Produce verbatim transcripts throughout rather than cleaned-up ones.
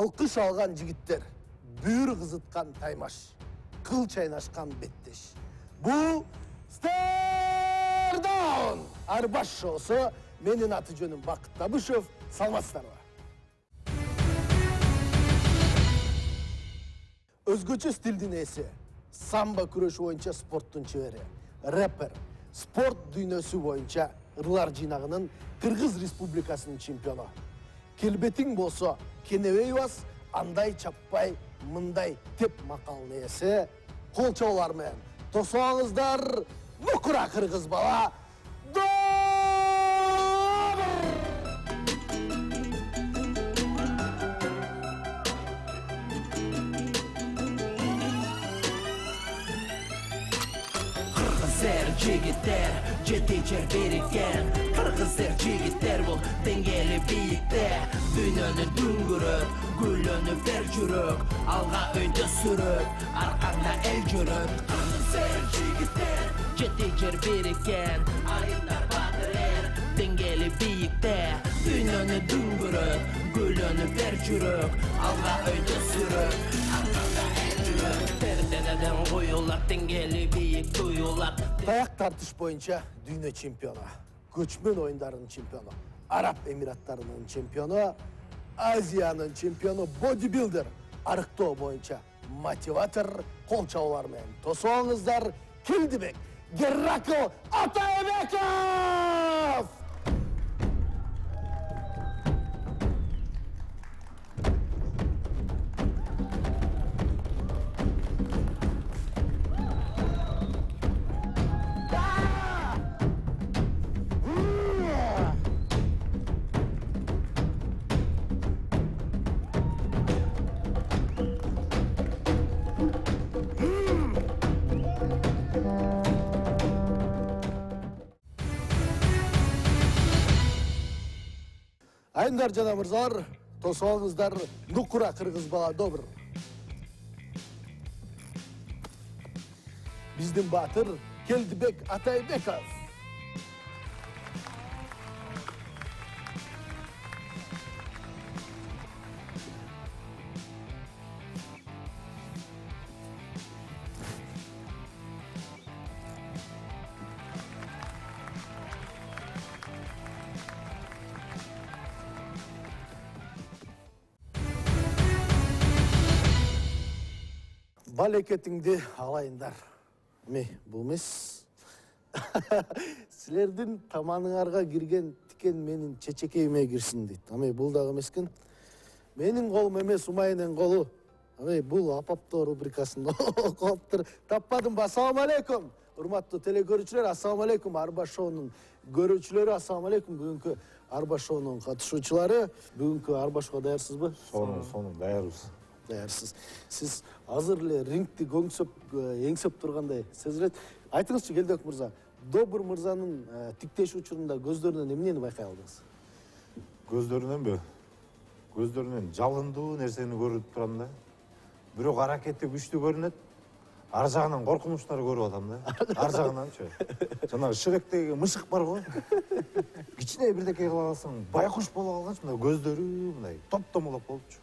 Алкыш алган жигиттер, бүйүр кызыткан таймаш, кыл чайнашкан беттеш. Бул Стейрдаун Арбаш шоусу. Менин аты жөнүм Бакыт Табышев. Саламатсыздарбы? Өзгөчө стилдин ээси, самбо күрөшү боюнча спорттун чебери, рэпер, спорт дүйнөсү боюнча ырлар жыйнагынын Кыргыз Республикасынын чемпиону. Келбетиң болсо кенебей бас, андай чаппай, мындай теп макалынын ээси, кол чабуулар менен тосоңуздар Нукура кыргыз бала Добр! Kırgızlar jigitler, жети-жер берикен. Kırgızlar jigitler bul dengeli biyikte. Dünyönü düngürüp, gülönü ver жүрөк. Alga öydü sürüp, arkanda el жүрөк. Kırgızlar jigitler, жети-жер бериken. Ayınlar batırır, dengeli biyikte. Dünyönü düngürüp, gülönü ver жүрөк. Alga öydü sürüp, arkanda el жүрөk. Perdeneden koyular, dengeli biyik duyular. Таяк тартыш боюнча дүйнө чемпиону, көчмөн оюндарынын чемпиону, Араб Эмираттарынын чемпиону, Азиянын чемпиону, бодибилдер, арыктоо боюнча мотиватор, кол чабуулар менен тосоңуздар Келдибек Геракл Атайбеков! Айымдар жана мырзалар, тосоңуздар Нукура кыргыз бала Добр. Биздин баатыр Келдибек Атайбеков. Балекетиңди алайындар. Ме, бул эмес. Силердин таманыңарга кирген тикен менин чечекейиме кирсин дейт. Аме бул дагы эмескен. Менин колум эмес, Умайнын колу. Аме бул апапто рубрикасын окуптур. Таппадым. Ассаламу алейкум. Урматтуу телекөрүүчүлөр, ассаламу алейкум. Арбаш шоунун көрүүчүлөрү, ассаламу алейкум. Бүгүнкү Арбаш шоунун катышуучулары, бүгүнкү Арбашка даярсызбы? Сонун, сонун даярбыз. Даярсыз. Сиз азыр эле рингти көңсөп, эңсеп тургандай сезилет. Айтыңызчы, Келдибек мырза, Добр мырзанын тиктеш учурунда көздөрүнөн эмнени байкай алдыңыз? Көздөрүнөнбү? Көздөрүнөн жалындуу нерсени көрүп турам да. Бирок аракети күчтүү көрүнөт. Ар жагынан коркунучтарды көрүп атам да. Ар жагынанчы. Жанагы шыректеги мышык бар го. Кичине бирдеке кыла алсаң, байкуш болуп калганчы, мындай көздөрү мындай топ-томолок болупчу.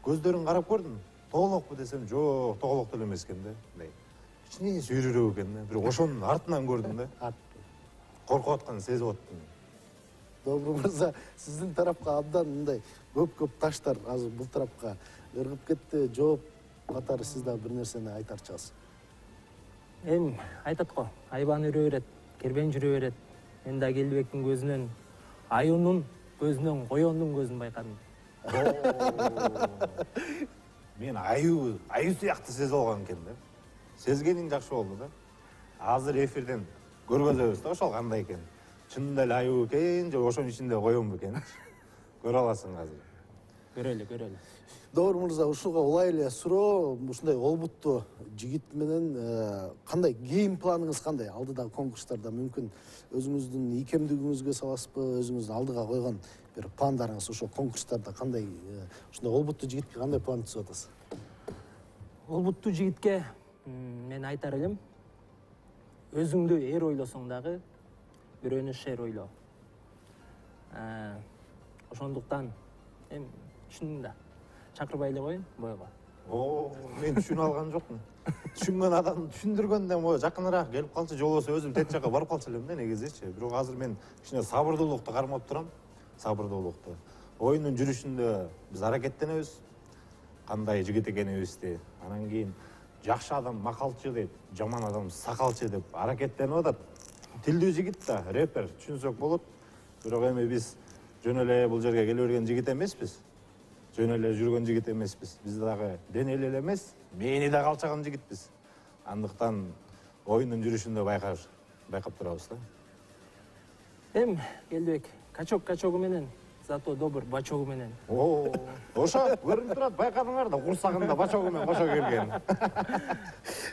Көздөрүн карап көрдүм. Тоголокпу десем, жок, тоголок деле эмес экен да. Мындай кичине сүйрүрөөк экен да. Бирок ошонун артынан көрдүм да. Коркуп атканын сезип аттым. Добр мырза, сиздин тарапка абдан мындай көп-көп таштар азыр бул тарапка ыргып кетти. Жооп катары сиз дагы бир нерсени айтарчысыз. Эми айтат го, айбан үрө берет, кербен жүрө берет. Мен да Келдибектин көзүнөн, аюунун көзүнөн коёндун көзүн байкадым. Мен аю, аю сыяктуу сезип алган экен да. Сезгениң жакшы болду да. Азыр эфирден көргөзөбүз да ошол кандай экен. Чынында эле аю экен же ошонун ичинде коён бекен? Көрө аласың азыр. Көрөлү, көрөлү. Добр мырза, ушуга улай эле суроо, ушундай олбуттуу жигит менен кандай гейм планыңыз кандай? Алдыдагы конкурстарда мүмкүн өзүңүздүн ийкемдигиңизге саласызбы, өзүңүздүн алдыга койгон бир пландарыңыз ошол конкурстарда кандай, ушундай олбуттуу жигитке кандай план түзүп атасыз? Олбуттуу жигитке мен айтар элем, өзүңдү эр ойлосоң дагы бирөөнү шер ойло. Ошондуктан эми чынында чакырбай эле коеюн бойго. О, мен түшүнүп алган жокмун. Түшүнгөн адам түшүндүргөндөн могу жакыныраак келип калчу, же болбосо өзүм тет жакка барып калчу элем да негизичи. Бирок азыр мен кичине сабырдуулукту кармап турам. Сабырдуулукту. Оюндун жүрүшүндө биз аракеттенебиз. Кандай жигит экенибизди. Анан кийин жакшы адам макалчы дейт, жаман адам сакалчы деп аракеттенип атат. Тилдүү жигит да, рэпер түшүнсөк болот. Бирок эми биз жөн эле бул жерге келе берген жигит эмеспиз. Жөн эле жүргөн жигит эмеспиз. Биз дагы денели эле эмес, мээни да калчаган жигитпиз. Андыктан оюндун жүрүшүндө байкар, байкап турабыз да. Эм, Келдибек, качок качогу менен, зато добр бачогу менен. О, ошо көрүнүп турат, байкадыңар да, курсагында бачогу менен кошо келген.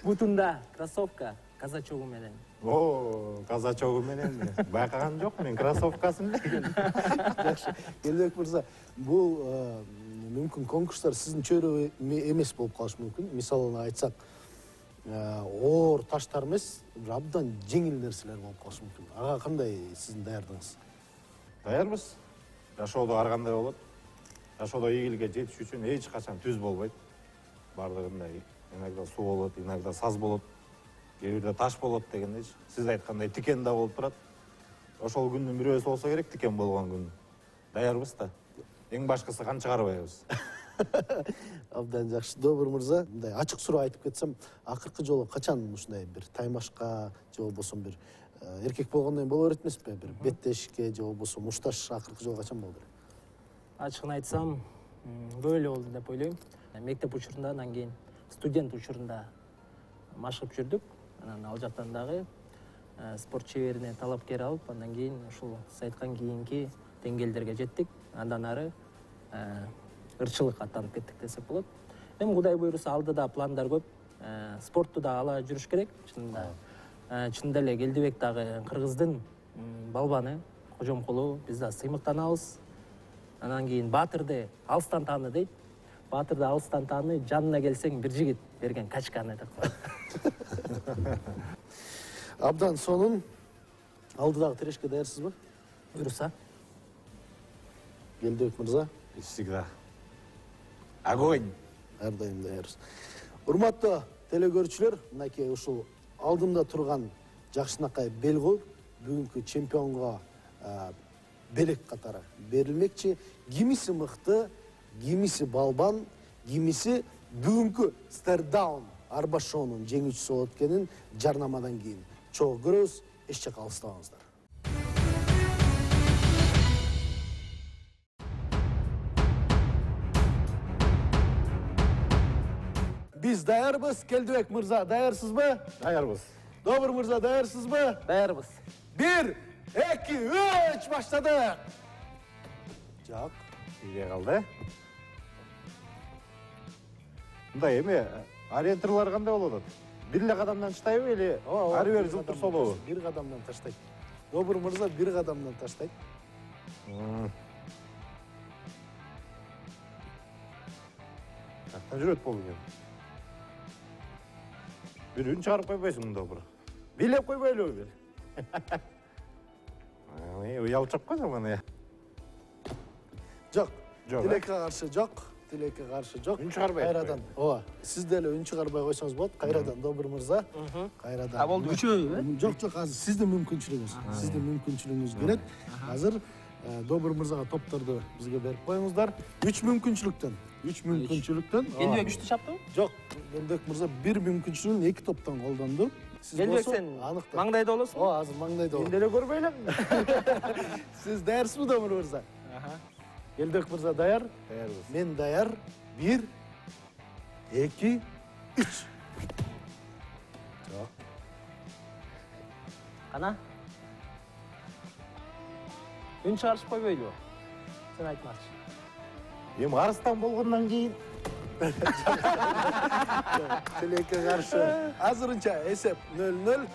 Бутунда кроссовка казачогу менен. О, казачогу менен байкаган жок мен кроссовкасын эле. Жакшы. Келбек мырза, бул мүмкүн конкурстар сиздин чөйрө эмес болуп калышы мүмкүн. Мисалына айтсак, оор таштар эмес, бир абдан жеңил нерселер болуп калышы мүмкүн. Ага кандай сиздин даярдыгыңыз? Даярбыз. Жашоодо ар кандай болот. Жашоодо ийгиликке жетиш үчүн эч качан түз болбойт. Бардыгында иногда суу болот, иногда саз болот, кээ бирде таш болот дегендейчи. Сиз айткандай тикен да болуп турат. Ошол күндүн бирөөсү болсо керек, тикен болгон күн. Даярбыз да. Эң башкысы кан чыгарбайбыз. Абдан жакшы. Добур мырза, мындай ачык суроо айтып кетсем, акыркы жолу качан ушундай бир таймашка же болбосо бир эркек болгондон кийин боло берет эмеспи? Бир беттешикке же болбосо мушташ акыркы жолу качан болду? Ачыгын айтсам, көп эле болду деп ойлойм. Мектеп учурунда, анан кийин студент учурунда машыгып жүрдүк. Анан ал жактан дагы спорт чеберине талапкер алып, андан кийин ушул сиз айткан кийинки деңгээлдерге жеттик. Андан ары ырчылык аттанып кеттик десек болот. Эми Кудай буйруса алдыда пландар көп. Спортту да ала жүрүш керек. Чынында чынында эле Келдибек дагы кыргыздын балбаны, кожомкулу, биз да сыймыктанабыз. Анан кийин Баатырды алыстан тааны дейт. Баатырды алыстан тааны, жанына келсең бир жигит берген качканы деп. Абдан сонун. Алдыдагы тирешке даярсызбы? Буйруса. Келдибек мырза. Всегда. Огонь. Ар дайым даярбыз. Урматтуу телекөрүүчүлөр, мынакей ушул алдымда турган жакшынакай бел коюп, бүгүнкү чемпионго белек катары берилмекчи. Кимиси мыкты, кимиси балбан, кимиси бүгүнкү Стердаун арба шоунун жеңүүчүсү болот экенин жарнамадан кийин чогуу көрөбүз. Эч жакка алыстабаңыздар. Биз даярбыз. Келдибек мырза, даярсызбы? Даярбыз. Добур мырза, даярсызбы? Даярбыз. Бир, эки, үч, баштадык. Жок. Ийге калды. Мындай эми ориентирлар кандай болот атат? Бир эле кадамдан таштайбы или ары бери жылтыр солобу? Бир кадамдан таштайт. Добур мырза бир кадамдан таштайт. Каяктан жүрөт болду экен? Бир үн чыгарып койбойсуң мында бир. Билеп койбойлубу бир? Уялчап койсуң мына. Жок. Жок. Тилекке каршы жок. Тилекке каршы жок. Үн чыгарбай. Кайрадан. Ооба. Сиз деле үн чыгарбай койсоңуз болот. Кайрадан добур мырза. Кайрадан. А болду үчөө? Жок, жок, азыр сиздин мүмкүнчүлүгүңүз. Сиздин мүмкүнчүлүгүңүз керек. Азыр добур мырзага топторду бизге берип коюңуздар. үч мүмкүнчүлүктөн. үч мүмкүнчүлүктөн. Келдибек үчтү чаптыбы? Жок. Келдибек мырза бир мүмкүнчүлүгүн эки топтон колдонду. Келдибек сен маңдайда болосуң? Ооба, азыр маңдайда. Мен деле көрбөй элем. Сиз даярсызбы, добур мырза? Келдибек мырза даяр? Даярбыз. Мен даяр. Бир, эки, үч. Жок. Кана? Үн чыгарышып койбойлубу? Сен айтмакчы. Эми арыстан болгондон кийин Тилекке каршы. Азырынча эсеп нөл нөл.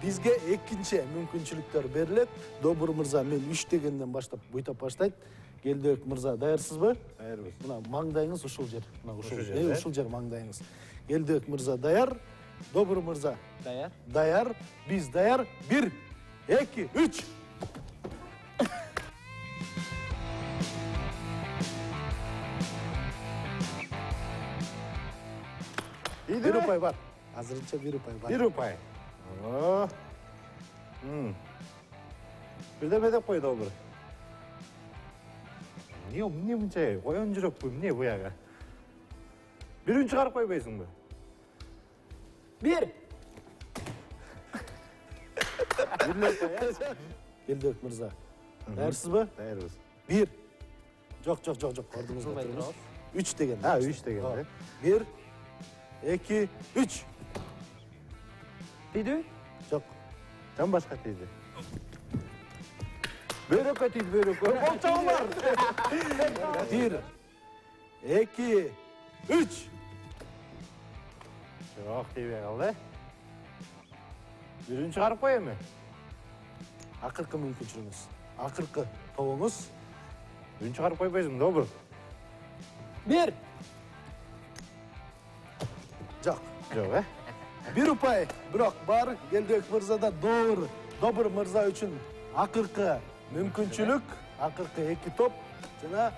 Бизге экинчи мүмкүнчүлүктөр берилет. Добур мырза мен үч дегенден баштап буйтап баштайт. Келдибек мырза даярсызбы? даярбыз. Мына маңдайыңыз ушул жер. Мына ушул Ушул жер, жер, э? ушул жер маңдайыңыз. Келдибек мырза даяр. Добур мырза Даяр. даяр. Биз даяр. Бир, эки, үч. бир упай бар. Азырынча бир упай бар. Бир упай. О. М. Бирдеме деп койду Добур. Эмне эмне мынча коён жүрөкпү, эмне буяга? Бирин чыгарып койбойсуңбу? Бир. Келдик мырза. Даярсызбы? Даярбыз. бир. Жок, жок, жок, жок. Ордуңузга Кылбай туруңуз. турабыз. үч деген. А, үч деген, э? бир, эки, үч. Тийдү? Жок. Жан башка тийди. Бөрөккө тийди, бөрөккө. Болчоңуңар. бир, эки, үч. Жок, тийбей калды. Бирин чыгарып кой эми. Акыркы мүмкүнчүлүгүңүз. Акыркы тобуңуз. Бирин чыгарып койбойсуң, Добур. Бир. Жок. Жок, э? Бир упай, бирок бар Келдибек мырзада Добур. Добур мырза үчүн акыркы мүмкүнчүлүк, акыркы эки топ жана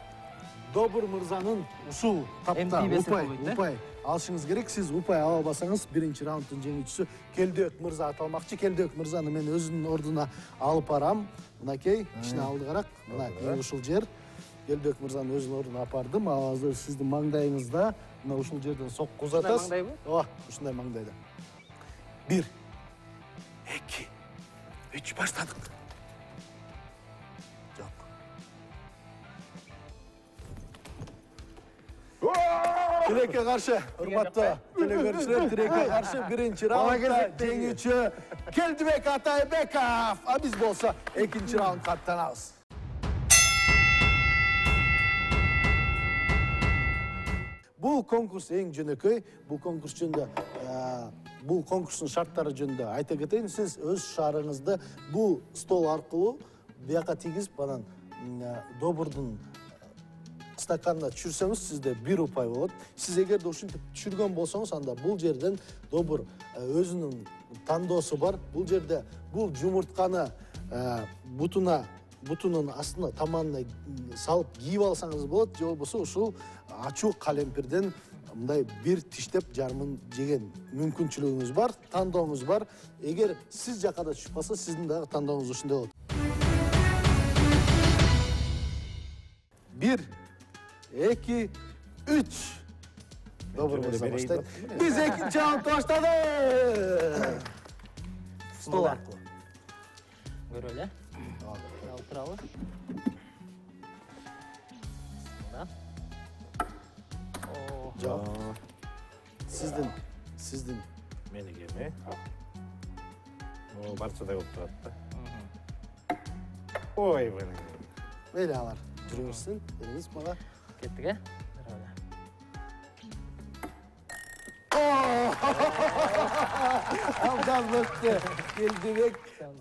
Добур мырзанын ушул тапта Эми тийбесе упай, болбойт, э? упай алышыңыз керек. Сиз упай ала албасаңыз биринчи раунддун жеңүүчүсү Келдибек мырза аталмакчы. Келдибек мырзаны мен өзүнүн ордуна алып барам. Мынакей, кичине алдыгараак. Мына ушул жер. Келдибек мырзанын өзүнүн ордуна апардым. Азыр сиздин маңдайыңызда мына ушул жерден сокку узатасыз. Ушундай маңдайбы? Ооба, ушундай маңдайда. бир, эки, үч баштадык. Жок. Тилекке каршы, урматтуу телекөрүүчүлөр, тилекке каршы биринчи раундда жеңүүчү Келдибек Атайбеков. А биз болсо экинчи раундга аттанабыз. Бул конкурс эң жөнөкөй. Бул конкурс жөнүндө, бул конкурстун шарттары жөнүндө айта кетейин. Сиз өз шаарыңызды бул стол аркылуу бияка тийгизип, анан Добурдун стаканына түшүрсөңүз, сизде бир упай болот. Сиз эгерде ушинтип түшүргөн болсоңуз, анда бул жерден Добур өзүнүн тандоосу бар. Бул жерде бул жумуртканы бутуна бутунун астына таманына салып кийип алсаңыз болот, же болбосо ушул ачуу калемпирден мындай бир тиштеп жарымын жеген мүмкүнчүлүгүңүз бар, тандооңуз бар. Эгер сиз жакка да түшүп калса, сиздин дагы тандооңуз ушундай болот. бир, эки, үч. Добур мырза баштайт. Биз экинчи раундду баштадык. Стол аркылуу. Көрөлү, э? Алып туралы. О, Жок. Сиздин, сиздин. Меники эми. О, барчадай болуп турат да. Ой, мени. Мейли алар. Жүрүңүзсүн, бериңиз мага. кеттик, э? Абдан өттү. Келдибек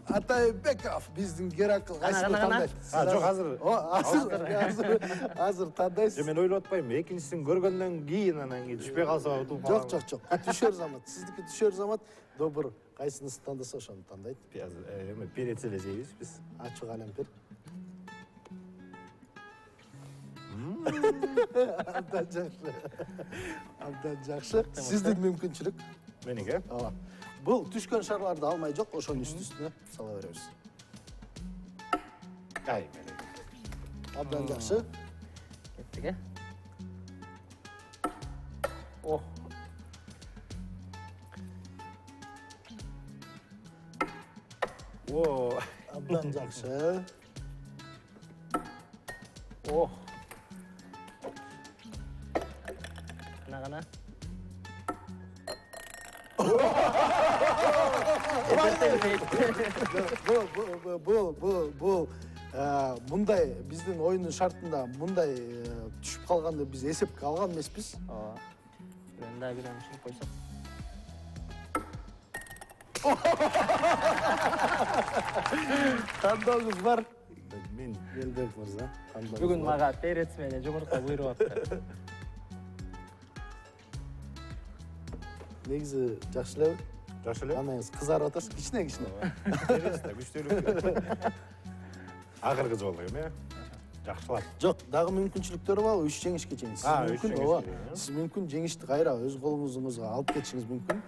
Атайбеков биздин Геракл. Кайсыны тандайт? А, жок, азыр. О, азыр, азыр, азыр тандайсыз. Мен ойлоп атпайм, экинчисин көргөндөн кийин анан кийин түшпөй калса утуп калам. Жок, жок, жок. Түшөр замат. Сиздики түшөр замат. Добур, кайсынысын тандаса ошону тандайт. Эми перец эле жейбиз биз. Ачуу калемпир. Абдан жакшы. Абдан жакшы. Сиздин мүмкүнчүлүк. Меники? Ооба. Бул түшкөн шарларды алмай жок, ошонун үстү-үстүнө сала беребиз. Ай, меники. Абдан жакшы. Кеттик, э? О. О, Абдан жакшы. О. Кана-кана. Бул, бул, бул, бул, бул мындай биздин оюндун шартында мындай түшүп калганды биз эсепке алган эмеспиз. Ооба. Бирөөнү да бирөөнү түшүрүп койсок. Тандооңуз бар. мен Келдибек мырза. Бүгүн мага перец менен жумурка буйруп атты. Негизи жакшы элеби? жакшы эле. Анаңыз кызарып атасыз, кичине-кичине. Перец да күчтүүлүк. Акыркы жолу эми. жакшылап. Жок, дагы мүмкүнчүлүктөр бар, үч жеңишке чейин. Сиз А, үч мүмкүн, жеңишке ооба. чейин, э? Сиз мүмкүн жеңишти кайра өз колуңузга алып кетишиңиз мүмкүн.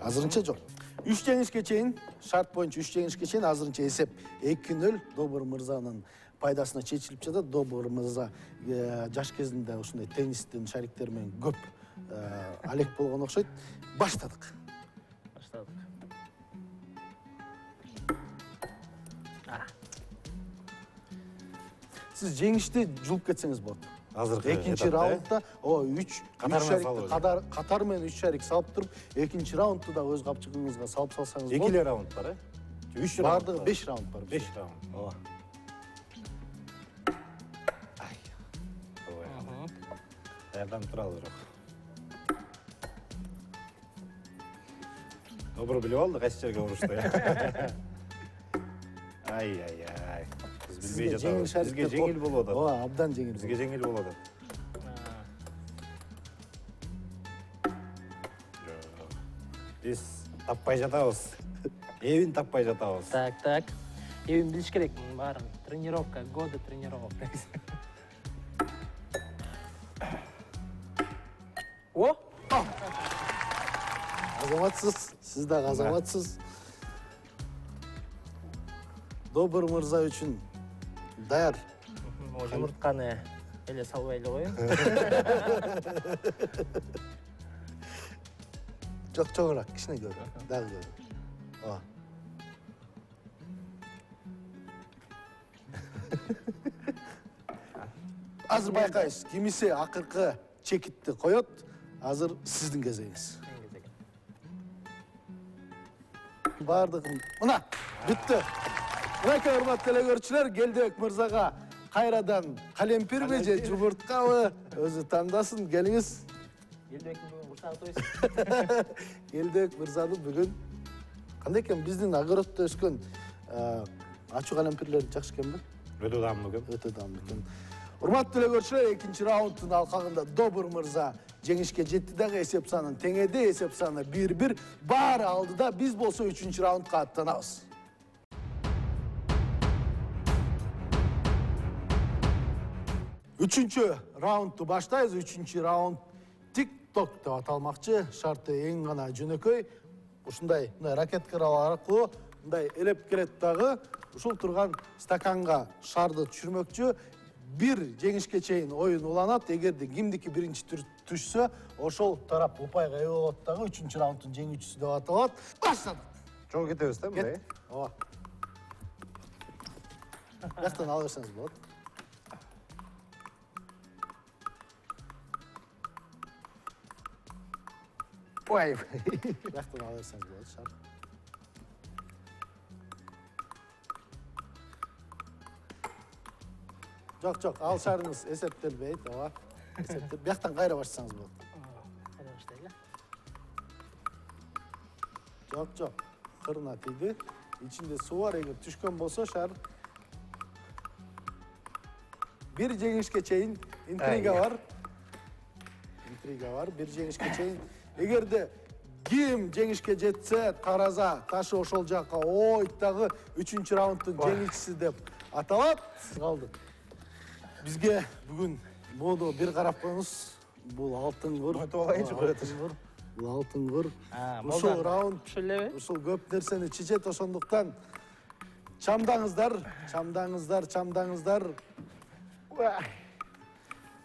Азырынча жок. үч жеңишке чейин, шарт боюнча үч жеңишке чейин азырынча эсеп эки нөл Добур мырзанын пайдасына чечилип жатат. Добур мырза жаш кезинде ушундай теннистин шариктери менен көп алек болгон окшойт. Баштадык. Баштадык. Сиз жеңишти жулуп кетсеңиз болот. Азыркы Экинчи раундда о үч катар катар катар менен үч шарик салып туруп, экинчи раундту да өз капчыгыңызга салып салсаңыз болот. Экиле раунд бар, э? үч раунд. Бардыгы беш раунд бар. беш раунд. Ооба. Ай. Ой. Даярдан туралы бирок. Добро билип алды кайсы жерге урушты. Ай ай ай. Биз билбей жатабыз. Бизге жеңил болуп атат. Ооба, абдан жеңил. Бизге жеңил болуп атат. Биз таппай жатабыз. Эбин таппай жатабыз. Так, так. Эбин билиш керек, мунун баарын. Тренировка, годы тренировок. О! Азаматсыз, сиз дагы азаматсыз. Добур мырза үчүн даяр. Жумуртканы эле салбай эле коеюн. Жок, чоңураак, кичине көрүн. Дагы көрүн. Ооба. Азыр байкайсыз, кимиси акыркы чекитти коет. Азыр сиздин кезегиңиз. Бардыгын. Мына, бүттү. Мынакей урматтуу телекөрүүчүлөр, Келдебек мырзага кайрадан калемпирби же жумурткабы өзү тандасын. Келиңиз. Келдебектин бүгүн курсагы тойсун. Келдебек мырзаны бүгүн кандай экен, биздин огороддо өскөн ачуу калемпирлер жакшы экенби? Өтө даамдуу экен. Өтө даамдуу экен. Урматтуу телекөрүүчүлөр, экинчи раунддун алкагында Добур мырза жеңишке жетти дагы, эсеп санын теңеди, эсеп саны бир бир. Баары алдыда, биз болсо үчүнчү раундга аттанабыз. Үчүнчү раундду баштайбыз. Үчүнчү раунд тик-ток деп аталмакчы. Шарты эң гана жөнөкөй. Ушундай мындай ракеткалар аркылуу мындай элеп келет дагы. Ушул турган стаканга шарды түшүрмөкчү. Бир жеңишке чейин оюн уланат. Эгерде кимдики биринчи түшсө, ошол тарап упайга ээ болот дагы. Үчүнчү раунддун жеңүүчүсү деп аталат. Баштадык. Чоң кетебиз да мындай. Ооба. Бияктан ала берсеңиз болот. Ой. Бияктан ала берсеңиз болот, шарт. Жок, жок, ал шарыңыз эсептелбейт, ооба. Эсептелбейт. Бияктан кайра баштасаңыз болот. Кайра баштайлы. Жок, жок. Кырына тийди. Ичинде суу бар, эгер түшкөн болсо шар. Бир жеңишке чейин интрига бар. Интрига бар, бир жеңишке чейин. Эгерде ким жеңишке жетсе, тараза ташы ошол жакка ойт дагы үчүнчү раунддун жеңүүчүсү деп аталат. Калды. Бизге бүгүн моду бир карап коюңуз. Бул алтын кур. Өтүп алайынчы көтөр. Бул алтын кур. Ушул Ушул раунд элеби? ушул көп нерсени чечет, ошондуктан чамдаңыздар, чамдаңыздар, чамдаңыздар.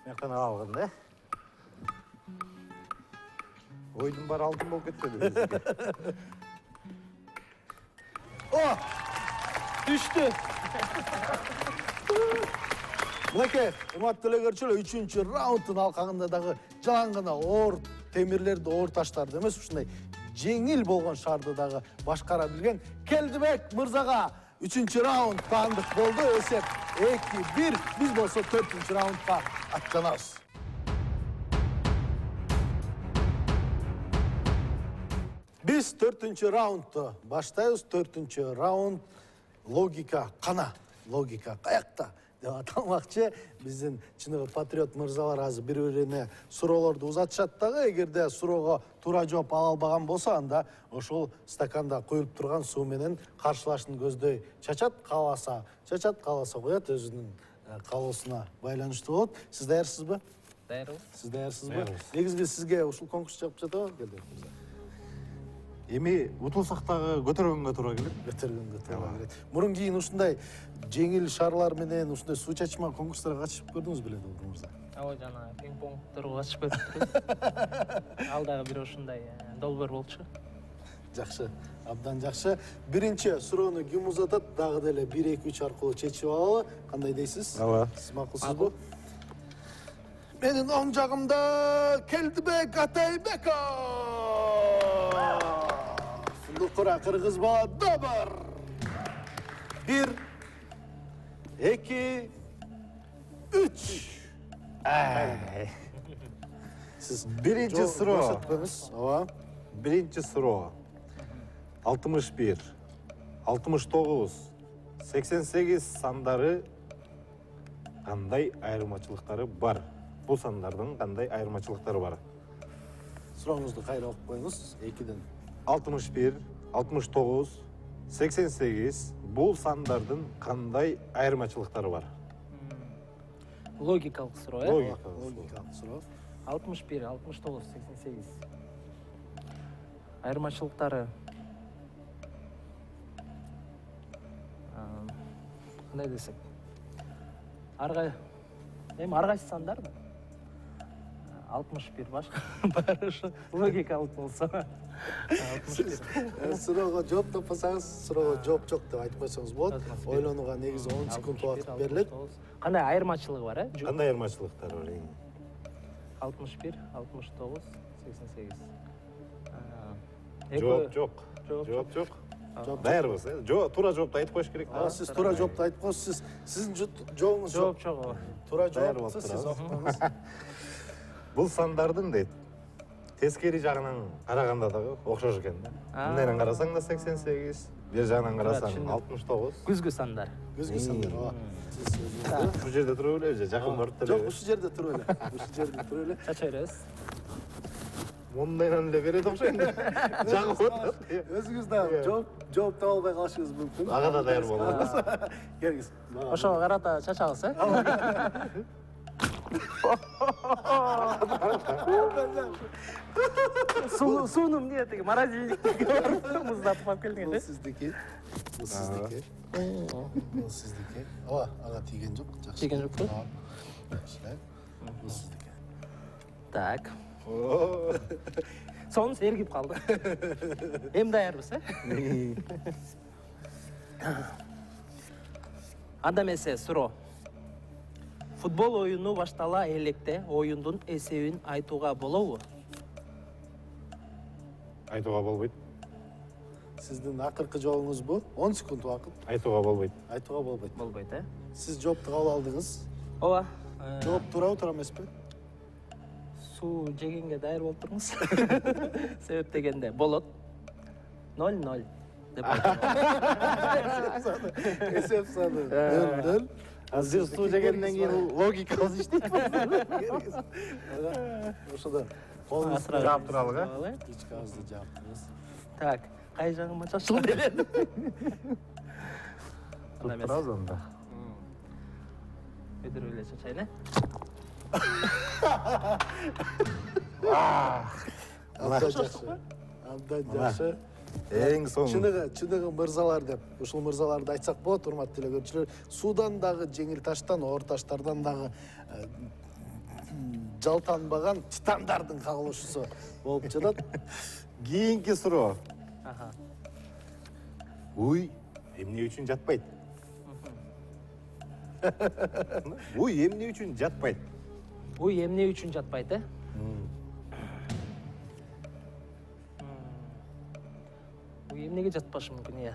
Мектен алган да. Ойдун баары алтын болуп кетпеди. О! Түштү. Мынакей, урматтуу телекөрүүчүлөр, үчүнчү раунддун алкагында дагы жалаң гана оор темирлерди, оор таштарды эмес, ушундай жеңил болгон шарды дагы башкара билген Келдебек мырзага үчүнчү раунд таандык болду. Эсеп эки бир. Биз болсо төртүнчү раундга аттанабыз. Биз төртүнчү раундду баштайбыз. Төртүнчү раунд логика кана. Логика каякта деп аталмакчы. Биздин чыныгы патриот мырзалар азыр бири-бирине суроолорду узатышат дагы. Эгерде суроого туура жооп ала албаган болсо, анда ошол стаканда куюлуп турган суу менен каршылашын көздөй чачат, кааласа чачат, кааласа коет, өзүнүн каалоосуна байланыштуу болот. Сиз даярсызбы? Даярбыз. Сиз даярсызбы? Даярбыз. Негизги сизге ушул конкурс жагып жатабы? Келди. Эми утулсак дагы көтөргөнгө туура келет. Көтөргөнгө туура келет. Мурун кийин ушундай жеңил шарлар менен ушундай суу чачма конкурстарга катышып көрдүңүз беле, Долбур мырза? Ооба, жана пинг-понгторго катышып көрүптүрбүз. Ал дагы бир ушундай долбоор болчу. Жакшы, абдан жакшы. Биринчи суроону ким узатат? Дагы деле бир эки үч аркылуу чечип алалы. Кандай дейсиз? Ооба. Сиз макулсузбу? Менин оң жагымда Келдибек Атайбеков. Фундукура кыргыз бала добур. Бир, эки, үч. Сиз Биринчи суроо. Көрсөтпөңүз. Ооба. Биринчи суроо. алтымыш бир, алтымыш тогуз, сексен сегиз сандары кандай айырмачылыктары бар? Бул сандардын кандай айырмачылыктары бар? Сурооңузду кайра окуп коюңуз. экиден. алтымыш бир, алтымыш тогуз, сексен сегиз бул сандардын кандай айырмачылыктары бар? Логикалык суроо, э? Логикалык. Логикалык суроо. алтымыш бир, алтымыш тогуз, сексен сегиз. Айырмачылыктары кандай десек? Арга эми ар кайсы сандар да? алтымыш бир башка баары ушу логикалык болсо. алтымыш бир. Суроого жооп таппасаңыз, суроого жооп жок деп айтып койсоңуз болот. Ойлонууга негизи он секунд убакыт берилет. Кандай айырмачылыгы бар, э? Кандай айырмачылыктары бар? алтымыш бир, алтымыш тогуз, сексен сегиз. Жооп жок. Жооп Жооп жок. Жооп Даярбыз, э? Жоо, туура жоопту айтып коюш керек. А, сиз туура жоопту айтып коюңуз. Сиз сиздин жооңуз жооп жок. Туура Даяр жооп болуп болсо сиз турабыз. окуңуз. Бул сандардын дейт. Тескери жагынан караганда дагы окшош экен да. Мындайдан карасаң да сексен сегиз, бер жагынан карасаң түшүндүм. алтымыш тогуз. Күзгү сандар. Көзгө сандар. Ооба. Сиз өзүңүздү. Ушул жерде туруп эле же жакын барып Жок, деле. ушул жерде туруп эле. Ушул жерде туруп эле. Чача беребиз. Мондайдан эле берет окшойт. Жагып отурат. Өзүңүз да жооп жооп таба албай калышыңыз мүмкүн. Ага да даяр болобуз. Келиңиз. Ошого карата чачабыз, э? Сууну эмне тиги морозильникке барып муздатып алып келдиң Бул эле. сиздики. Бул сиздики. Бул сиздики. Ооба, ага тийген жок. Жакшы. Тийген жокпу? Жакшы. Бул сиздики. Так. Сонун эргип калды. Эми даярбыз, э? Анда эмесе суроо. Футбол оюну баштала электе оюндун эсебин айтууга болобу? Айтууга болбойт. Сиздин акыркы жообуңуз бул. он секунд убакыт. Айтууга болбойт. Айтууга болбойт. Болбойт, э? Сиз жоопту кабыл алдыңыз. Ооба. Жооп туурабы, туура эмеспи? Суу жегенге даяр болуп туруңуз. Себеп дегенде болот. ноль ноль деп айтып. Эсеп саны нөл нөл. Азыр суу жегенден кийин логикабыз иштейт. Ошондо колуңузду Жаап туралы, э? ручкабызды жаап турабыз. Так, кай жагыма чачылды эле? Анда эмес. Турабыз анда. Өйдүрүп эле чачайын, э? Абдан жакшы. Абдан жакшы. Эң соң. Чыныгы, чыныгы мырзалар деп ушул мырзаларды айтсак болот, урматтуу телекөрүүчүлөр. Суудан дагы жеңил таштан, оор таштардан дагы жалтанбаган титандардын кагылышуусу болуп жатат. Кийинки суроо. Аха. Уй, эмне үчүн жатпайт? Уй, эмне үчүн жатпайт? Уй эмне үчүн жатпайт, э? Уй эмнеге жатпашы мүмкүн, иә.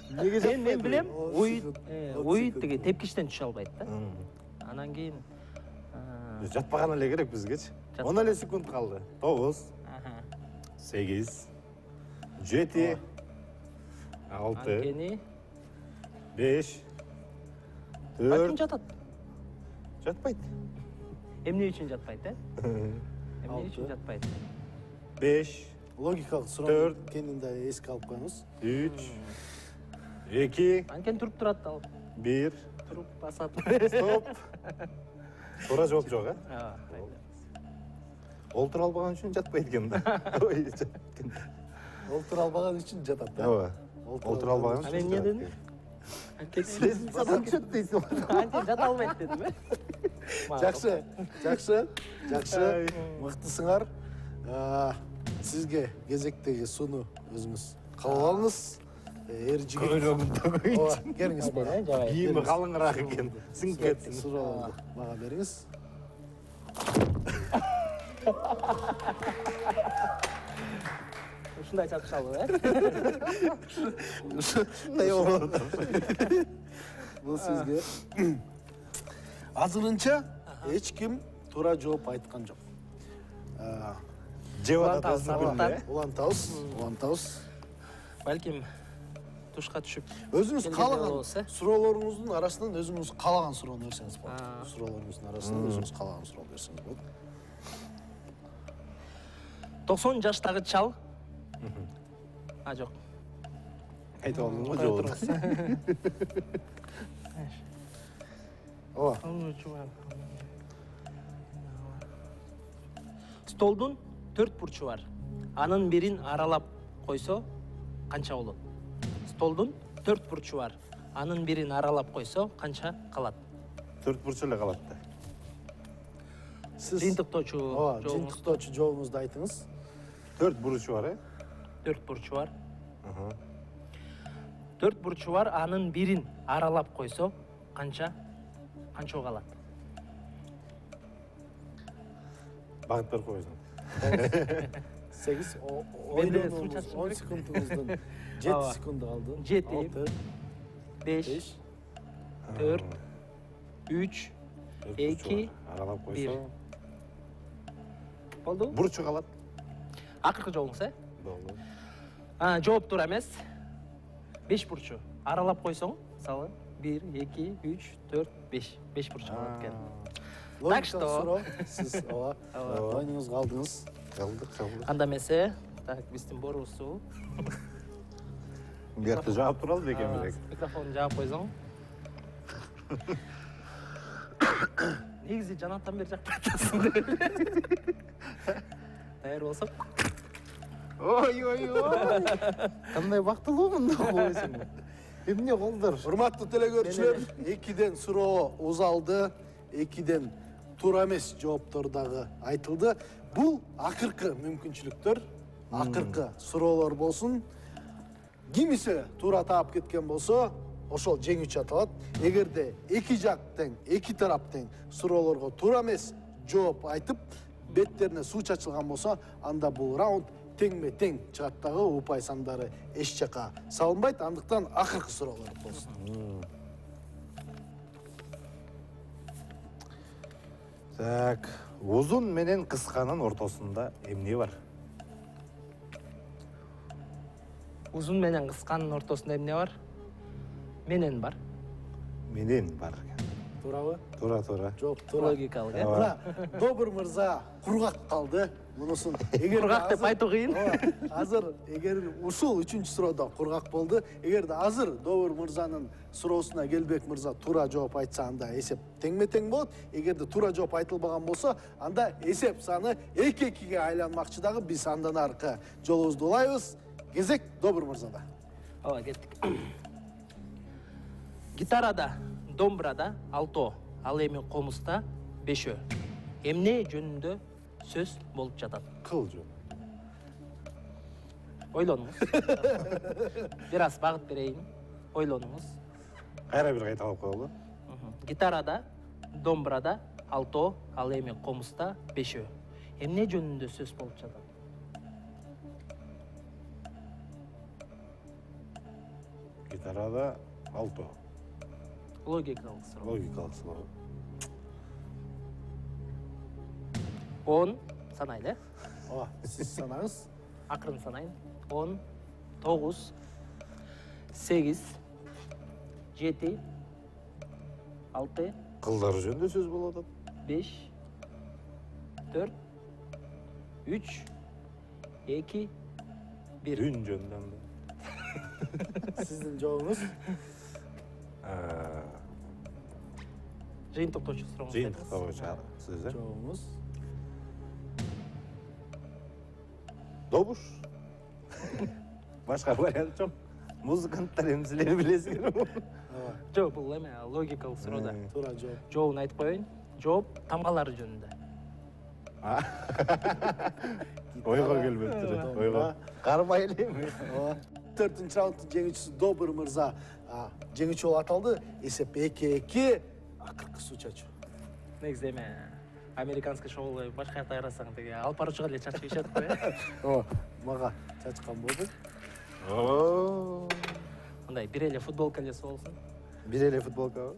Эмнеге Мен мен билем, уй Ой, уй тиги тепкичтен түшө албайт да. Анан кийин Жатпаган эле керек бизгечи. он эле секунд калды. тогуз, сегиз, жети, алты, анткени беш, качан төрт, жатат? жатпайт. Эмне үчүн жатпайт, э? Эмне үчүн жатпайт? беш, логикалык суроо Төрт. экенин да эске алып коюңуз. үч, эки, Анткени туруп турат ал. бир, туруп басат. Стоп. Туура жооп жок, э? Ооба. Олтура албаган үчүн жатпайт экен да. Ой, жатат экен. Олтура албаган үчүн жатат да. Ооба. Олтура албаган А үчүн. мен эмне дедим? Сен садан түшөт дейсиң. Анча жата албайт дедим, э? Жакшы, жакшы, жакшы. Мыктысыңар. Сизге кезектеги сууну өзүңүз кабыл алыңыз. Эр жигит. Көйлөгүн төгөйт. Ооба, келиңиз бара. Кийими калыңыраак экен. Сиңип кетсин. Суроолорду мага бериңиз. Ушундай чатышалы, э? Ушундай болот. Бул сизге. Азырынча эч ким туура жооп айткан жок. Жеп Улантабыз, атат. Улантабыз, улантабыз. Балким тушка түшүп. Өзүңүз Келгенде каалаган болобуз, э? суроолоруңуздун арасынан өзүңүз каалаган суроону берсеңиз А. болот. Суроолоруңуздун арасынан өзүңүз каалаган суроону берсеңиз болот. токсон жаштагы чал. А, жок. Айтып алдың го жооп. Ооба. Столдун төрт бурчу бар. Анын бирин аралап койсо канча болот? Столдун төрт бурчу бар. Анын бирин аралап койсо канча калат? Төрт бурчу эле калат да. Сиз Жыйынтыктоочу Ооба, жообуңуз жыйынтыктоочу жообуңузду айтыңыз. Төрт бурчу бар, э? төрт бурчу бар. Аха. төрт бурчу бар, анын бирин аралап койсо канча канча калат? Багыт берип койсуң. сегиз Мен деле ойлонуңуз, суу чачышым он керек. секундуңуздун Ооба. жети секунду калды. жети, алты, беш, беш, төрт, үч, эки, аралап бир. койсо болду? бурчу калат. Акыркы жообуңуз, э? Болду. А, жооп туура эмес. беш бурчу. Аралап койсоң, мисалы, бир, эки, үч, төрт, беш. беш бурчу калат экен. логикалык что- суроо. Сиз ооба, ойнуңузга алдыңыз. Калдык, калдык. Анда эмесе, так, биздин борусу. Бuyerде жаап туралы бекен А, белек. Микрофонду жаап койсоң. Негизи жанаттан бери жакпай атасың деп эле. Даяр болсок. Ой, ой, ой. Кандай бактылуу мында койсуң. Эмне колдор? Урматтуу телекөрүүчүлөр, экиден суроо узалды, экиден туура эмес жооптор дагы айтылды. Бул акыркы мүмкүнчүлүктөр, акыркы суроолор болсун. Кимисе туура таап кеткен болсо, ошол жеңүүчү аталат. Эгерде эки жак тең, эки тарап тең суроолорго туура эмес жооп айтып, беттерине суу чачылган болсо, анда бул раунд теңме тең чыгат дагы, упай сандары эч жака салынбайт. Андыктан акыркы суроолор болсун. Так, узун менен кысканын ортосунда эмне бар? Узун менен кысканын ортосунда эмне бар? Менен бар. Менен бар. Туурабы? Туура, туура. Жооп туура. Логикалык, э? Мына Добур мырза кургак калды. Мунусун эгер Кургак деп айтуу кыйын. Азыр эгер ушул үчүнчү суроодо кургак болду. Эгерде азыр Добур мырзанын суроосуна Келбек мырза туура жооп айтса, анда эсеп теңме-тең болот. Эгерде туура жооп айтылбаган болсо, анда эсеп саны эки-экиге айланмакчы дагы. Биз андан аркы жолубузду улайбыз. Кезек Добур мырзада. Ооба, кеттик. Гитарада, домбурада алтоо, ал эми комузда бешөө. Эмне жөнүндө сөз болуп жатат? Кыл жөн. Ойлонуңуз. Бир аз багыт берейин. Ойлонуңуз. Кайра бир кайта алып коелу. Гитарада, домбурада алтоо, ал эми комузда бешөө. Эмне жөнүндө сөз болуп жатат? Гитарада алто. Логикалык суроо. Логикалык суроо. он санайлы, э? Ооба, сиз санаңыз. Акырын санайын. он, тогуз, сегиз, жети, алты, Кылдар жөнүндө сөз болуп атат. беш, төрт, үч, эки, бир. Үн жөнүндө. Сиздин жообуңуз. жыйынтыктоочу сурооңуз. Жыйынтыктоочу сиз э? Жообуңуз Добуш. Башка вариант жок. Музыканттар эмнелерди билесиңер? Жок, бул эме логикалык суроо да. туура жооп. Жообун айтып коеюн. Жооп тамгалары жөнүндө. Ойго келбептир. Ойго. Кармай элеми? төртүнчү раунддун жеңүүчүсү Добур мырза жеңүүчү болуп аталды. Эсеп эки эки. Акыркы суу чачуу. Негизи эме американский шоулар башка жакта карасаң деге алып баруучуга эле чачып ийишет го э. О, мага чачкан болду. Оо. Мындай бир эле футболка эле болсун. Бир эле футболкабы?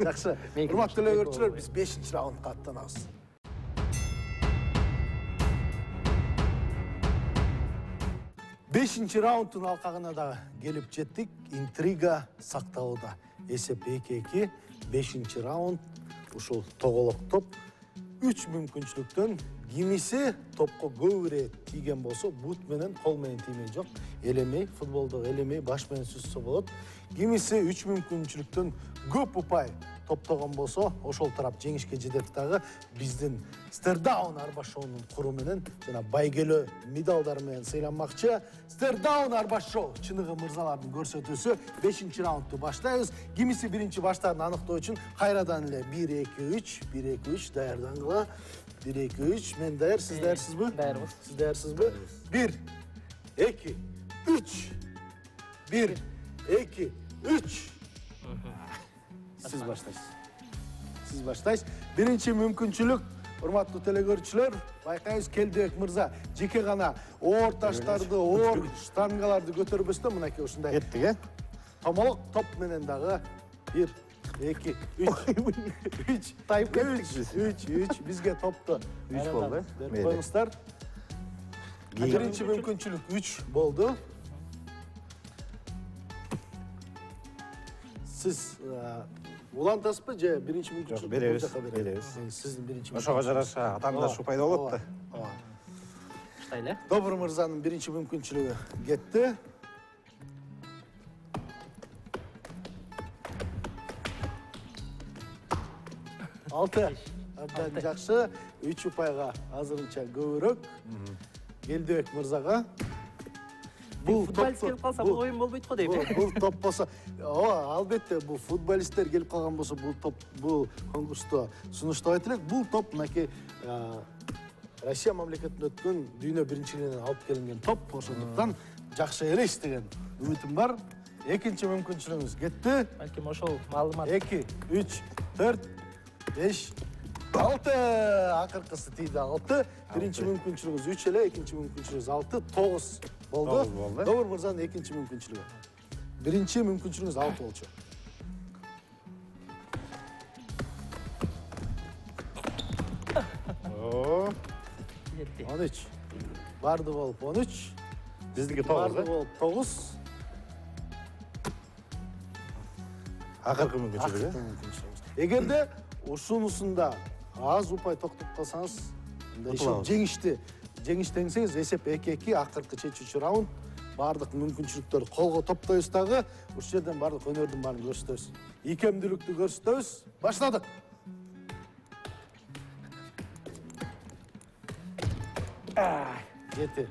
Жакшы. Урматтуу эле көрүүчүлөр, биз бешинчи раундга аттанабыз. бешинчи раунддун алкагына да келип жеттик. Интрига сакталууда. Эсеп эки эки. бешинчи раунд. Ушул тоголок топ. үч мүмкүнчүлүктөн кимиси топко көп ирет тийген болсо, бут менен кол менен тиймей жок. Элемей, футболдо элемей, баш менен сүзсө болот. Кимиси үч мүмкүнчүлүктөн көп упай топтогон болсо, ошол тарап жеңишке жетет дагы. Биздин Стердаун арба шоунун куру менен жана байгелөө медалдар менен сыйланмакчы. Стердаун арба шоу чыныгы мырзалардын көрсөтүүсү. бешинчи раундду баштайбыз. Кимиси биринчи баштаарын аныктоо үчүн кайрадан эле бир эки үч, бир эки үч даярдангыла. бир эки үч, мен даяр, сиз даярсызбы? Даярбыз. Сиз даярсызбы? бир эки үч. бир эки үч. Сиз баштайсыз. Сиз баштайсыз. Биринчи мүмкүнчүлүк, урматтуу телекөрүүчүлөр, байкайбыз Келдибек мырза жеке гана оор таштарды, оор штангаларды көтөрбөстөн мынакей ушундай Кеттик, э? томолок топ менен дагы бир эки үч үч тайып кеттик. үч үч бизге топту үч болду, э? Берип коюңуздар. Биринчи мүмкүнчүлүк үч болду. Сиз улантасызбы же биринчи мүмкүнчүлүк беребиз, беребиз. Сиздин биринчи Ошого жараша атаандашуу пайда болот да. Баштайлы. Добур мырзанын биринчи мүмкүнчүлүгү кетти. Алты. Абдан жакшы. Үч упайга азырынча көбүрөөк. Келдибек мырзага. Бул футболист келип калса бул оюн болбойт го дейм. Бул топ болсо, ооба, албетте бул футболисттер келип калган болсо, бул топ бул конкурсту сунуштабайт элек. Бул топ мынакей Россия мамлекетинде өткөн дүйнө биринчилигинен алып келинген топ. Ошондуктан жакшы элес деген үмүтүм бар. Экинчи мүмкүнчүлүгүңүз кетти. Балким ошол маалымат. эки, үч, төрт, беш, алты. Акыркысы тийди алты. Биринчи мүмкүнчүлүгүңүз үч эле, экинчи мүмкүнчүлүгүңүз алты, тогуз болду. Добур мырзанын экинчи мүмкүнчүлүгү. Биринчи мүмкүнчүлүгүңүз алты болчу. Оо. он үч. Барды болуп он үч. Биздики тогуз, Барды э? болуп тогуз. Акыркы мүмкүнчүлүк, Акыркы э? мүмкүнчүлүгүңүз. Эгерде ушунусунда аз упай токтоп калсаңыз, жеңишти жеңиштенсеңиз, эсеп эки эки, акыркы чечүүчү раунд. Бардык мүмкүнчүлүктөрдү колго топтойбуз дагы. Ушул жерден бардык өнөрдүн баарын көрсөтөбүз. Икемдүүлүктү көрсөтөбүз. Баштадык. Жети.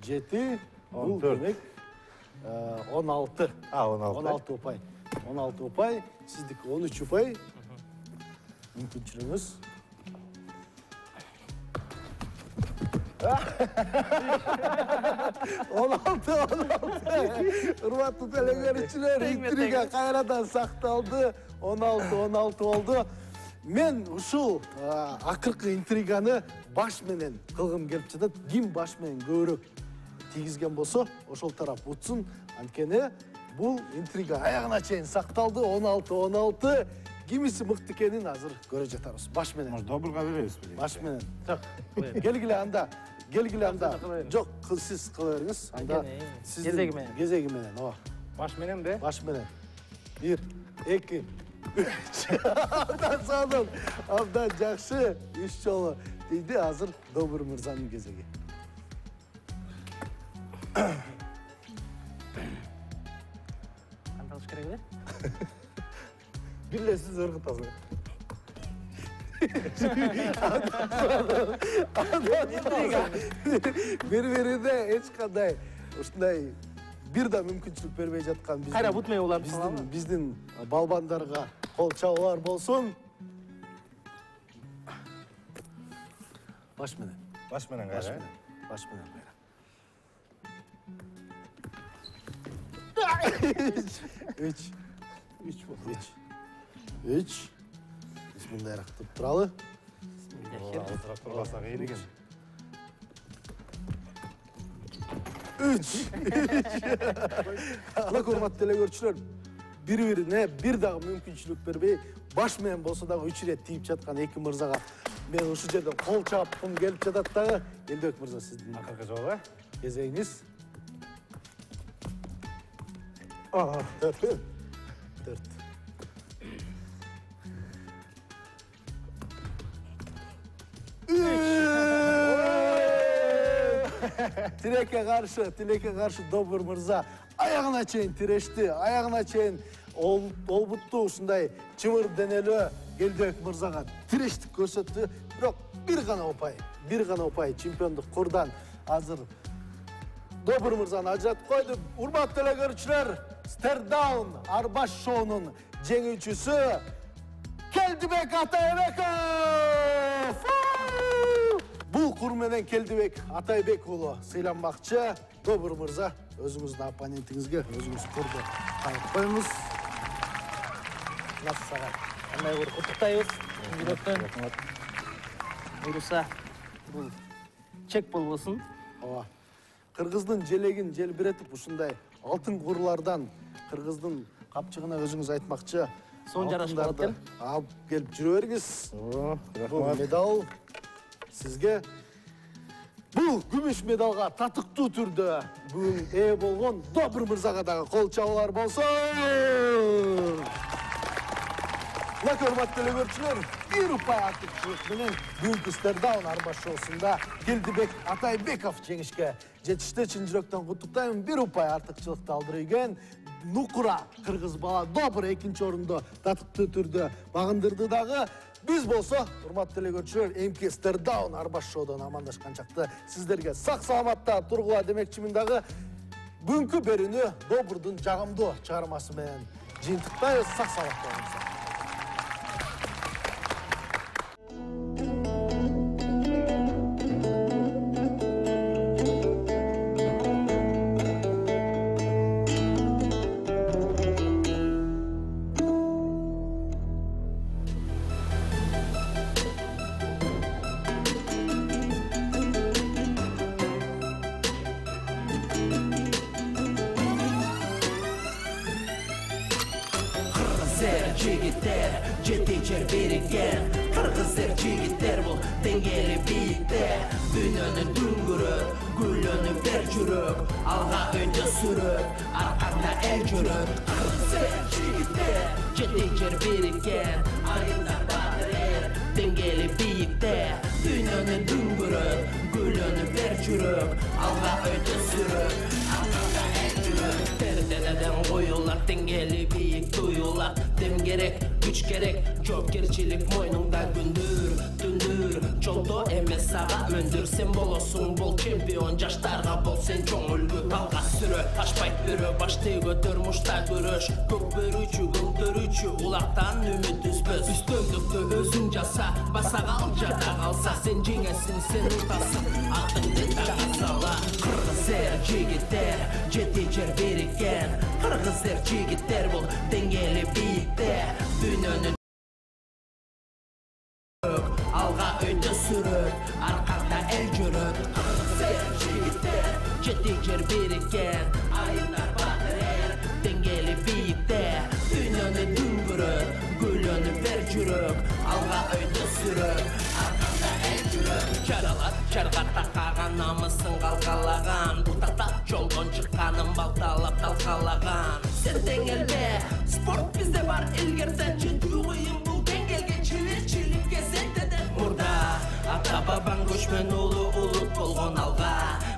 Жети. Бул демек он алты. А, он алты. он алты упай. он алты упай. Сиздики он үч упай. Мүмкүнчүлүгүңүз. он алты, он алты. Урматтуу телекөрүүчүлөр, интрига кайрадан сакталды. он алты, он алты болду. Мен ушул акыркы интриганы баш менен кылгым келип жатат. Ким баш менен көбүрөөк тийгизген болсо, ошол тарап утсун. Анткени бул интрига аягына чейин сакталды. он алты, он алты. Кимиси мыкты экенин азыр көрө жатабыз. Баш менен. Может, добурга беребизби? Баш менен. Келгиле анда. Келгиле анда. Жок, сиз кыла бериңиз. Анда сиздин кезеги менен. Кезеги менен, ооба. Баш менен де? Баш менен. бир, эки, үч. Абдан сонун. Абдан жакшы. үч жолу тийди. Азыр Добур мырзанын кезеги. Канталыш керек эле? бир эле сиз ыргытасыз. Бири-бирине эч кандай ушундай бир да мүмкүнчүлүк бербей жаткан биздин Кайра бут менен уларды биздин салалы. биздин балбандарга кол чабуулар болсун. Баш менен. Баш менен Баш кайра. менен. Баш менен кайра. Үч. Үч болду. Үч. Үч. Бисмиллахиррахманиррахим деп туралы. Азыраак турбасак эйли экен. Үч. Ана урматтуу телекөрүүчүлөр, бири-бирине бир дагы мүмкүнчүлүк бербей, баш менен болсо дагы үч ирет тийип жаткан эки мырзага мен ушул жерден кол чапкым келип жатат дагы. Элдебек мырза, сиздин Акыркы жолу. кезегиңиз. А, төрт. Төрт. Тилекке каршы, тилекке каршы Добур мырза аягына чейин тирешти, аягына чейин олбутту ушундай чымыр денелүү Элдебек мырзага тирештик көрсөттү. Бирок бир гана упай, бир гана упай чемпиондук курдан азыр Добур мырзаны ажыратып койду. Урматтуу телекөрүүчүлөр, Стердаун Арбаш шоунун жеңүүчүсү Келдибек Атайбеков! Бул кур менен Келдибек Атайбек уулу сыйланмакчы. Добур мырза, өзүңүздүн оппонентиңизге өзүңүз курду кайып коюңуз. Насага. Кандай бир куттуктайбыз. Жүрөктөн. Буюрса, бул чек болбосун. Ооба. Кыргыздын желегин желбиретип ушундай алтын курлардан кыргыздын капчыгына өзүңүз айтмакчы. Сон жарашып калат экен. Алып келип жүрө бериңиз. Оо, Бул рахмат. медал сизге. Бул күмүш медалга татыктуу түрдө бүгүн ээ болгон Добур мырзага дагы кол чабуулар болсун. Мына урматтуу телекөрүүчүлөр, бир упай артыкчылык менен бүгүнкү Стердаун Арбаш шоусунда Келдибек Атайбеков жеңишке жетишти. Чын жүрөктөн куттуктайм. Бир упай артыкчылыкты алдырып ийген Нукура кыргыз бала Добур экинчи орунду татыктуу түрдө багындырды дагы. Биз болсо, урматтуу телекөрүүчүлөр, эмки Стердаун Арбаш шоудон амандашкан чакта сиздерге сак саламатта тургула демекчимин дагы. Бүгүнкү берүүнү Добурдун жагымдуу чыгармасы менен жыйынтыктайбыз. Сак саламатта болуңуздар. Жигиттер, жетинчер бириккен кыргыздар жигиттер бул деңгээли бийикте. Дүйнөнүн дүңгүрө гүлөнүп бер жүрөк, алга өтө сүрөк, арканда эл жүрөк. Кыргыздар жигиттер, жетинчер бириккен айылдар баатыр эл, деңгээли бийикте. Дүйнөнүн дүңгүрө гүлөнүп бер жүрөк, алга өтө сүрөк, арканда эл жүрөк. Перделерден коюлат деңгээли бийик туюлат. Дем керек, күч керек, жоопкерчилик мойнуңда күндүр, түндүр. Жолдо эмес сага өндүр, сен болосуң бул чемпион. Жаштарга бол сен чоң үлгү, талга сүрө. Ашпайт бирөө, башты көтөр, мушта күрөш. Көк бөрүүчү, көктөрүүчү, улактан үмүт үзбөс. Үстөмдүктү өзүң жаса, баса кал жада калса. Сен жеңесиң, сен утасың, атыңды тага сала. Кыргыздар жигиттер, жетинчер бириккен кыргыздар жигиттер бул деңгээли бийикте. Дүйнөнүн алга өтө сүрөк, арканда эл жүрөк. Кыргыздар жигиттер, жетинчер бириккен айылдар баатыр эл, деңгээли бийикте. Дүйнөнү дүңгүрө гүлөнүп бер жүрөк, алга өтө сүрөк, арканда эл жүрөк. Жаралат жарга такаган намысын калкалаган, бутактап жолдон чыкканын балталап талкалаган. Сен деңгелде, спорт бизде бар илгерде, жетүү кыйын бул деңгелге, чиличиликке сентеден мурда. Ата бабаң көчмөн уулу улут болгон алга,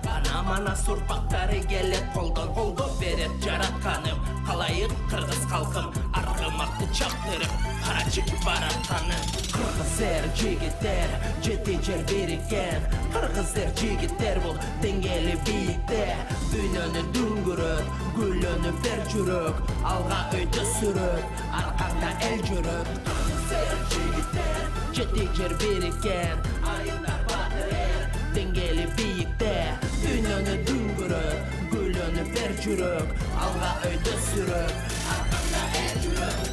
бана мана сурпактары келет колдон колдоп берет жаратканым. Калайык кыргыз калкым, аркым салмакты чаптырып кара чекип баратканы. Кыргыз эр жигиттер жети жер бириккен, кыргыз эр жигиттер бул деңгээли бийикте. Дүйнөнү дүңгүрөт, гүлөнүп бер жүрөк, алга өйдө сүрөт, аркаңда эл жүрөт. Кыргыз эр жигиттер жети жер бириккен, айылдар батыр эр деңгээли бийикте. Дүйнөнү дүңгүрөт, гүлөнүп бер жүрөк, алга өйдө сүрөт, аркаңда эл жүрөт.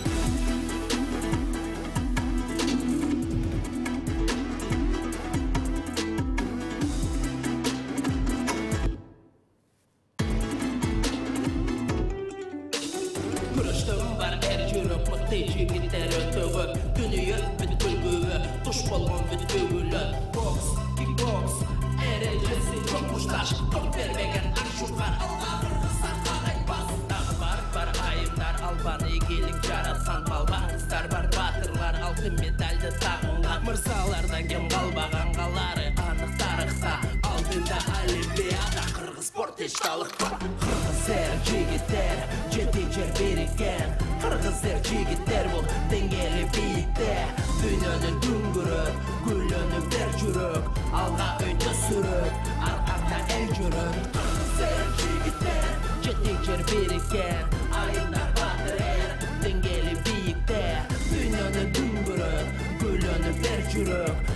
Күрөштөн бар эр жүрөк, мыкты жигиттер өтө көп. Дүнүйө бүт күлгүгө, туш болгон бүт бүгүлөт. Бокс, кикбокс, эрежеси жок мушташ, топ бербеген акшугар. Алга кыргыздар кагайбас. Дагы бар бар айымдар, албан ийгилик жараткан балбаңыздар бар. Батырлар алтын медальды тагынган, мырзалардан кем калбаган калары анык тарыхта. Алдыда олимпиада, кыргыз спорт эч талыкпа. Кыргыз эр жигиттер жети жер бириккен, кыргыз эр жигиттер бул деңгээли бийикте. Дүйнөнү дүңгүрөт, гүлөнүп бер жүрөк, алга өйдө сүрөт, аркаңда эл жүрөт. Кыргыз эр жигиттер жети жер бириккен, айылдар батыр эр деңгээли бийикте. Дүйнөнү дүңгүрөт, гүлөнүп бер жүрөк,